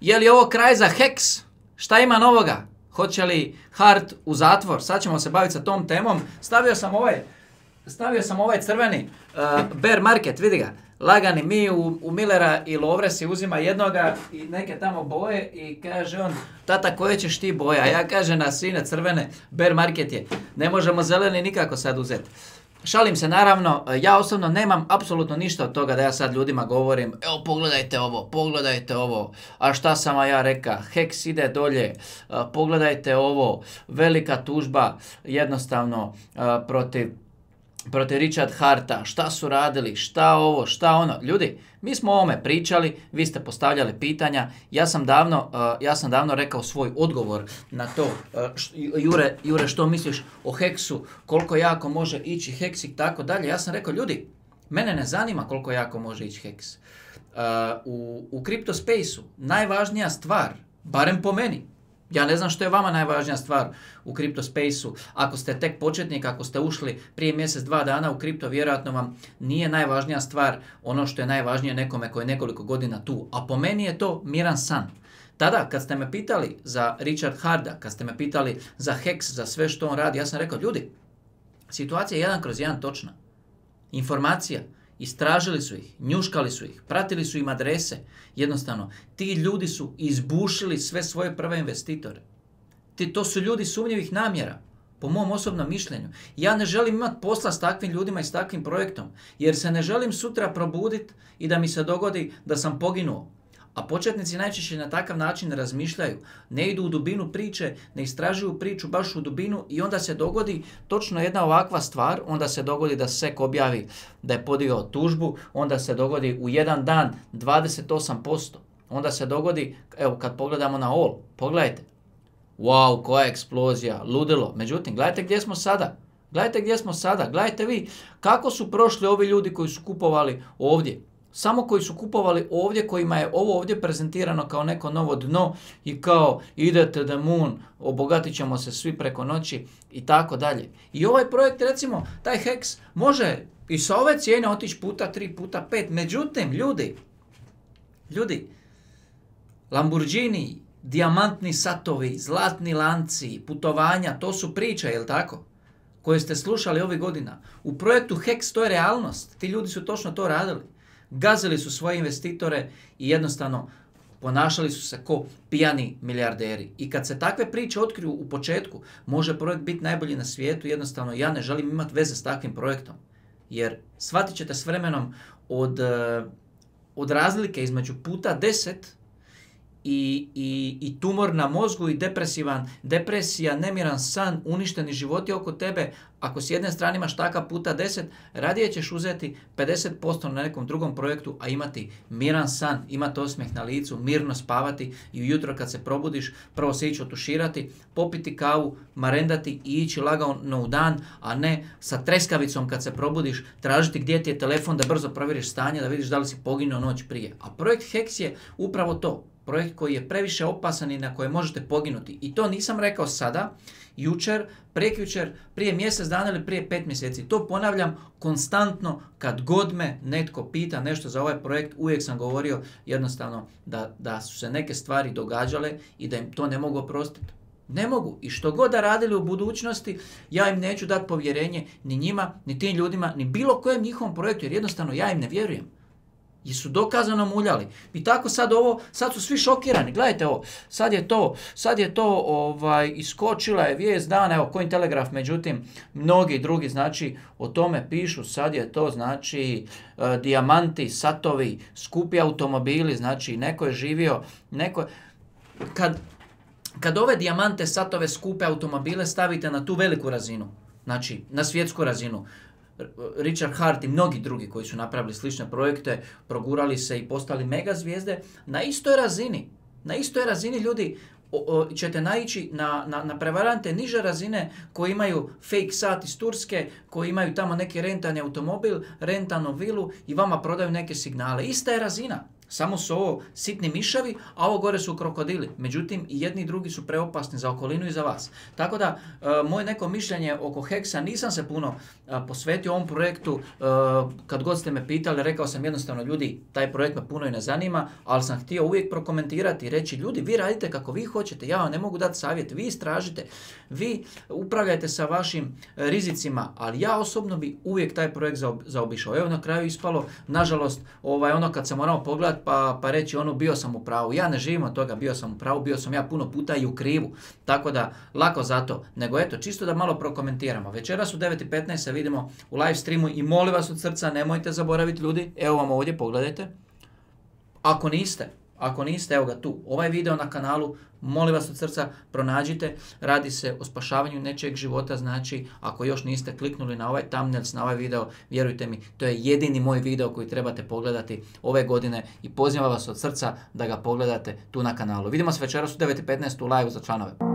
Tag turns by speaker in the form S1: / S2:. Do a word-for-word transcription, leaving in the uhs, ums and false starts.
S1: Je li ovo kraj za Hex? Šta ima novoga? Hoće li Hart u zatvor? Sad ćemo se baviti sa tom temom. Stavio sam ovaj, stavio sam ovaj crveni uh, bear market, vidi ga. Lagani mi u, u Millera i Lovre si uzima jednoga i neke tamo boje i kaže on, tata koje ćeš ti boje? A ja kaže na sine crvene, bear market je. Ne možemo zeleni nikako sad uzeti. Šalim se naravno, ja osobno nemam apsolutno ništa od toga da ja sad ljudima govorim, evo pogledajte ovo, pogledajte ovo, a šta sam ja reka, Hex ide dolje, pogledajte ovo, velika tužba jednostavno protiv protiv Richard Harta, šta su radili, šta ovo, šta ono. Ljudi, mi smo o ovome pričali, vi ste postavljali pitanja, ja sam davno, uh, ja sam davno rekao svoj odgovor na to. Uh, š, Jure, Jure, što misliš o Hexu, koliko jako može ići Hex i tako dalje. Ja sam rekao, ljudi, mene ne zanima koliko jako može ići Hex. Uh, u, u Crypto Space-u najvažnija stvar, barem po meni, ja ne znam što je vama najvažnija stvar u Crypto Space-u. Ako ste tek početnik, ako ste ušli prije mjesec, dva dana u kripto, vjerojatno vam nije najvažnija stvar ono što je najvažnije nekome koji je nekoliko godina tu. A po meni je to miran san. Tada, kad ste me pitali za Richard Harda, kad ste me pitali za Hex, za sve što on radi, ja sam rekao, ljudi, situacija je jedan kroz jedan točna. Informacija. Istražili su ih, njuškali su ih, pratili su im adrese. Jednostavno, ti ljudi su izbušili sve svoje prve investitore. Ti, to su ljudi sumnjivih namjera, po mom osobnom mišljenju. Ja ne želim imati posla s takvim ljudima i s takvim projektom, jer se ne želim sutra probuditi i da mi se dogodi da sam poginuo. A početnici najčešće na takav način razmišljaju, ne idu u dubinu priče, ne istražuju priču baš u dubinu i onda se dogodi točno jedna ovakva stvar, onda se dogodi da S E C objavi da je podigao tužbu, onda se dogodi u jedan dan dvadeset osam posto, onda se dogodi, evo kad pogledamo na All, pogledajte, wow, koja eksplozija, ludilo, međutim, gledajte gdje smo sada, gledajte gdje smo sada, gledajte vi kako su prošli ovi ljudi koji su kupovali ovdje. Samo koji su kupovali ovdje, kojima je ovo ovdje prezentirano kao neko novo dno i kao idete the moon, obogatit ćemo se svi preko noći i tako dalje. I ovaj projekt, recimo, taj Hex može i sa ove cijene otići puta tri, puta pet. Međutim, ljudi, ljudi, Lamborghini, dijamantni satovi, zlatni lanci, putovanja, to su priče, jel tako? Koje ste slušali ovih godina. U projektu Hex to je realnost. Ti ljudi su točno to radili. Gazili su svoje investitore i jednostavno ponašali su se ko pijani milijarderi. I kad se takve priče otkriju u početku, može projekt biti najbolji na svijetu, jednostavno ja ne želim imati veze s takvim projektom. Jer shvatit ćete s vremenom od, od razlike između puta deset I, i, i tumor na mozgu i depresivan, depresija, nemiran san, uništeni životi oko tebe. Ako s jedne strane imaš takav puta deset, radije ćeš uzeti pedeset posto na nekom drugom projektu, a imati miran san, imati osmijeh na licu, mirno spavati i ujutro kad se probudiš, prvo se ići otuširati, popiti kavu, marendati i ići lagano u dan, a ne sa treskavicom kad se probudiš, tražiti gdje ti je telefon da brzo provjeriš stanje, da vidiš da li si poginuo noć prije. A projekt Hex je upravo to. Projekt koji je previše opasan i na koje možete poginuti. I to nisam rekao sada, jučer, prekjučer, prije mjesec dana ili prije pet mjeseci. To ponavljam konstantno kad god me netko pita nešto za ovaj projekt, uvijek sam govorio jednostavno da, da su se neke stvari događale i da im to ne mogu oprostiti. Ne mogu. I što god da radili u budućnosti, ja im neću dati povjerenje ni njima, ni tim ljudima, ni bilo kojem njihovom projektu, jer jednostavno ja im ne vjerujem. Jer su dokazano muljali. I tako sad ovo, sad su svi šokirani. Gledajte ovo, sad je to, sad je to ovaj, iskočila je vijest dana, evo Cointelegraph, međutim, mnogi drugi, znači, o tome pišu, sad je to, znači, uh, dijamanti, satovi, skupi automobili, znači, neko je živio, neko je... Kad, kad ove dijamante, satove, skupe automobile stavite na tu veliku razinu, znači, na svjetsku razinu, Richard Hart i mnogi drugi koji su napravili slične projekte, progurali se i postali mega zvijezde, na istoj razini, na istoj razini ljudi o, o, ćete naići na, na, na prevarante niže razine koji imaju fake sat iz Turske, koji imaju tamo neki rentani automobil, rentanu vilu i vama prodaju neke signale. Ista je razina. Samo su ovo sitni miševi, a ovo gore su krokodili. Međutim, i jedni i drugi su preopasni za okolinu i za vas. Tako da, e, moje neko mišljenje oko Heksa, nisam se puno a, posvetio ovom projektu. E, kad god ste me pitali, rekao sam jednostavno, ljudi, taj projekt me puno i ne zanima, ali sam htio uvijek prokomentirati i reći, ljudi, vi radite kako vi hoćete, ja vam ne mogu dati savjet, vi istražite, vi upravljajte sa vašim rizicima, ali ja osobno bi uvijek taj projekt zaobišao. Evo na kraju ispalo, nažalost, ovaj, ono kad se moramo pogledati pa, pa reći ono, bio sam u pravu. Ja ne živim od toga, bio sam u pravu, bio sam ja puno puta i u krivu. Tako da, lako zato. Nego eto, čisto da malo prokomentiramo. Večeras u devet i petnaest se vidimo u live streamu i molim vas od srca, nemojte zaboraviti ljudi, evo vam ovdje, pogledajte. Ako niste, Ako niste, evo ga tu, ovaj video na kanalu, molim vas od srca, pronađite, radi se o spašavanju nečijeg života, znači ako još niste kliknuli na ovaj thumbnail, na ovaj video, vjerujte mi, to je jedini moj video koji trebate pogledati ove godine i pozivam vas od srca da ga pogledate tu na kanalu. Vidimo se večeras u devet i petnaest u live za članove.